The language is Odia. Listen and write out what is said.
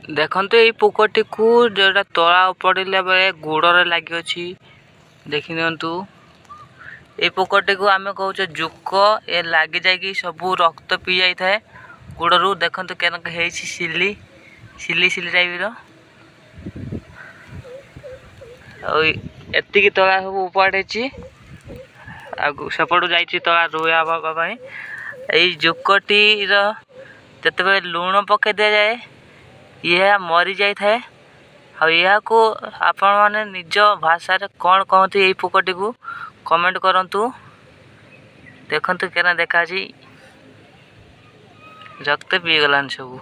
ଦେଖନ୍ତୁ, ଏଇ ପୋକଟିକୁ ଯେଉଁଟା ତଳା ଉପାଡ଼ିଲା ବେଳେ ଗୋଡ଼ରେ ଲାଗିଅଛି। ଦେଖିନିଅନ୍ତୁ, ଏଇ ପୋକଟିକୁ ଆମେ କହୁଛେ ଜୋକ। ଏ ଲାଗି ଯାଇକି ସବୁ ରକ୍ତ ପିଇ ଯାଇଥାଏ ଗୋଡ଼ରୁ। ଦେଖନ୍ତୁ କେନକ ହେଇଛି, ସିଲି ସିଲି ସିଲି ଟାଇପର। ଆଉ ଏତିକି ତଳା ସବୁ ଉପାଡ଼ିଛି, ଆଉ ସେପଟୁ ଯାଇଛି ତଳା ରୁଆ ହେବା ପାଇଁ। ଏଇ ଜୋକଟିର ଯେତେବେଳେ ଲୁଣ ପକାଇ ଦିଆଯାଏ, ଏହା ମରିଯାଇଥାଏ। ଆଉ ଏହାକୁ ଆପଣମାନେ ନିଜ ଭାଷାରେ କ'ଣ କହନ୍ତି ଏଇ ପୋକଟିକୁ, କମେଣ୍ଟ କରନ୍ତୁ। ଦେଖନ୍ତୁ କେନା ଦେଖାଯାଉଛି, ରକ୍ତ ପିଇଗଲାଣି ସବୁ।